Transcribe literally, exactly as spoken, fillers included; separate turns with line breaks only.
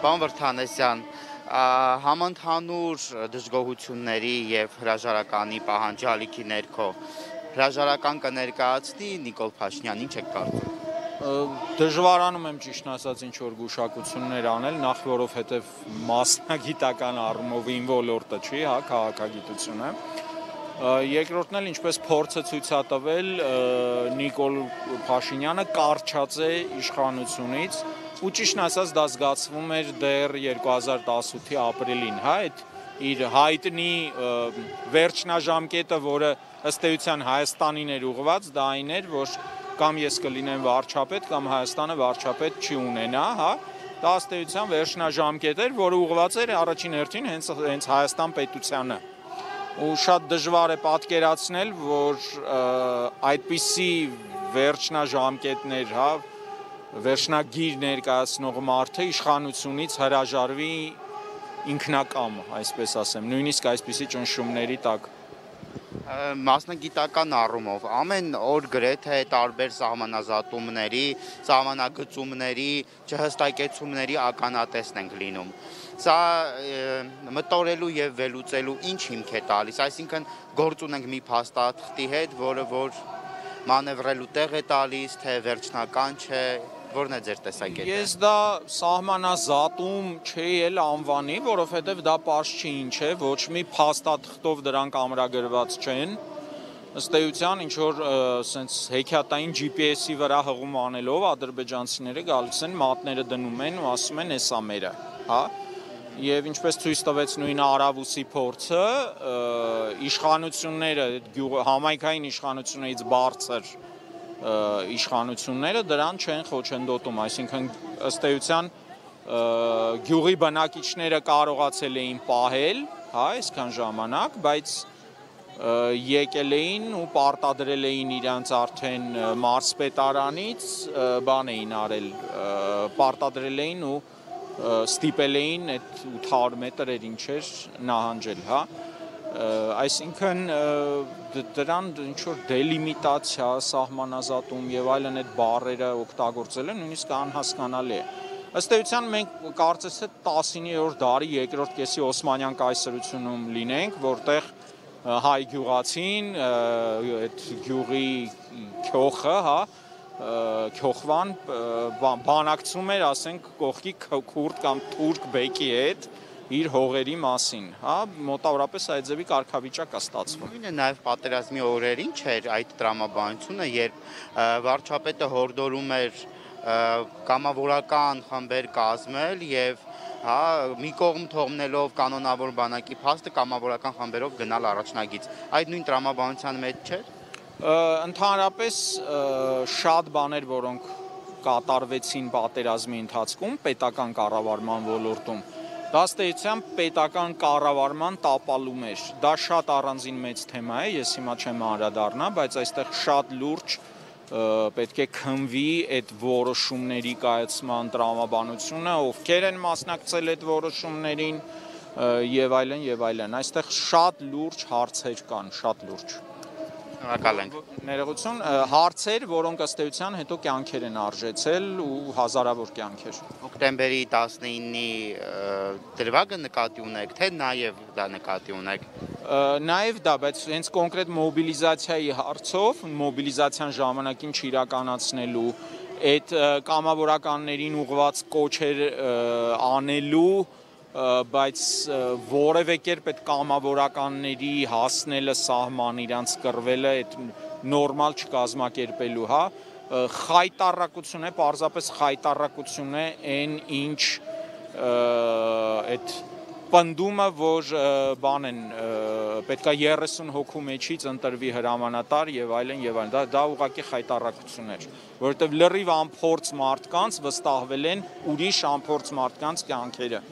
Պարոն Վրդանեսյան, համընդհանուր դժգոհությունների և հրաժարականի պահանջալիքի ներքո հրաժարական կներկայացնի Նիկոլ Փաշինյան, ինչ եք կարծում։
Դժվարանում եմ ճիշտ ասած ինչ-որ գուշակություններ անել, նախ որովհետև մասնագիտական առումով իմ ոլորտը չի, հա, քաղաքագիտությունը։ Երկրորդն էլ ինչպես փորձը ցույց է տվել, Նիկոլ Փաշինյանը կարճած է իշխանությունից, ու ճիշտ ասած դա զգացվում էր դեռ երկու հազար տասութի ապրիլին, հա, այդ իր հայտնի վերջնաժամկետը, որը ըստ էության Հայաստանին էր ուղղված, դա այն էր, որ կամ ես կլինեմ վարչապետ, կամ Հայաստանը վարչապետ չի ունենա, հա, դա ըստ էության վերջնաժամկետ էր, որը ուղղված էր առաջին հերթին հենց հենց Հայաստան պետությանը։ Ու շատ դժվար է պատկերացնել, որ այդպիսի վերջնաժամկետներ, հա, վերջնագիր ներկայացնող մարդը իշխանությունից հրաժարվի ինքնակամ, այսպես ասեմ, նույնիսկ այսպիսի ճնշումների տակ։
Մասնագիտական առումով ամեն օր գրեթե տարբեր սահմանազատումների, սահմանագծումների, չհստակեցումների ականատեսն ենք լինում։ Սա մտորելու և վերլուծելու ինչ հիմք է տալիս, այսինքն գործ ունենք մի փաստաթղթի հետ, որը որ մանևրելու տեղ է տալիս, թե վերջնական չէ, որն է ձեր տեսակետը։
Ես դա սահմանազատում չէի էլ անվանի, որովհետև դա պարզ չի ինչ է, ոչ մի փաստաթղթով դրանք ամրագրված չեն։ Ըստ էության ինչ որ սենց հեքիաթային Ջի Պի Էսի վրա հղում անելով ադրբեջանցիները գալիս են, մատները դնում են ու ասում են էսա մերը, հա։ Եվ ինչպես ցույց տվեց նույն Արավուսի փորձը, իշխանությունները, համայնքային իշխանություններից բարձր իշխանությունները դրան չեն խոչընդոտում, այսինքն ըստ էության գյուղի բնակիչները կարողացել էին պահել, հա, այսքան ժամանակ, բայց եկել էին ու պարտադրել էին իրանց արդեն մարզպետարանից, բան էին արել, պարտադրել էին ու ստիպել էին այդ ութ հարյուր մետր էր ինչ էր նահանջել, հա։ Այսինքն դրան ինչ-որ դելիմիտացիա, սահմանազատում և այլն այդ բառերը օգտագործելը նույնիսկ անհասկանալի է։ Ըստ էության մենք կարծես թե տասիններորդ դարի երկրորդ կեսի Օսմանյան կայսրությունում լինենք, որտեղ հայ գյուղացին, այդ գյուղի քյոխը, հա, քյոխվան բանակցում էր, ասենք, կողքի քուրդ կամ թուրք բեկի հետ իր հողերի մասին, հա, մոտավորապես այդ ձևի կարգավիճակ է ստացվում։
Նույնը նաև պատերազմի օրերին չէր այդ տրամաբանությունը, երբ վարչապետը հորդորում էր կամավորական խմբեր կազմել և հա, մի կողմ թողնելով կանոնավոր բանակի փաստը կամավորական խմբերով գնալ առաջնագիծ։ Այդ նույն տրամաբանության մեջ չէր։
Ընդհանրապես շատ բաներ, որոնք կատարվեցին պատերազմի ընթացքում պետական կառավարման ոլորտում, դա ըստ էության պետական կառավարման տապալում էր։ Դա շատ առանձին մեծ թեմա է, ես հիմա չեմ անդրադառնա, բայց այստեղ շատ լուրջ պետք է քննվի այդ որոշումների կայացման տրամաբանությունը, ովքեր են մասնակցել այդ որոշումներին և այլն և այլն։ Այստեղ շատ լուրջ հարցեր կան, շատ լուրջ։
Շնորհակալ ենք։
Ներողություն, հարցեր, որոնք ըստ էության հետո կյանքեր են արժեցել ու հազարավոր կյանքեր։
Հոկտեմբերի տասնինի դրվագը նկատի ունեք, թե նաև դա նկատի ունեք։
Նաև դա, բայց հենց կոնկրետ մոբիլիզացիայի հարցով, մոբիլիզացիան ժամանակին չիրականացնելու, այդ կամավորականներին ուղղված կոչեր անելու, բայց որևէ կերպ այդ կամավորականների հասնելը սահման, իրանց կռվելը, այդ նորմալ չկազմակերպելու, հա, խայտառակություն է, պարզապես խայտառակություն է այն ինչ այդ պնդումը, որ բան են, պետքա երեսուն հոգու մեջից ընտրվի հրամանատար և այլն և այլն, դա ուղղակի խայտառակություն էր, որովհետև լրիվ անփորձ մարդկանց վստահվել են ուրիշ անփորձ մարդկանց կյանքերը։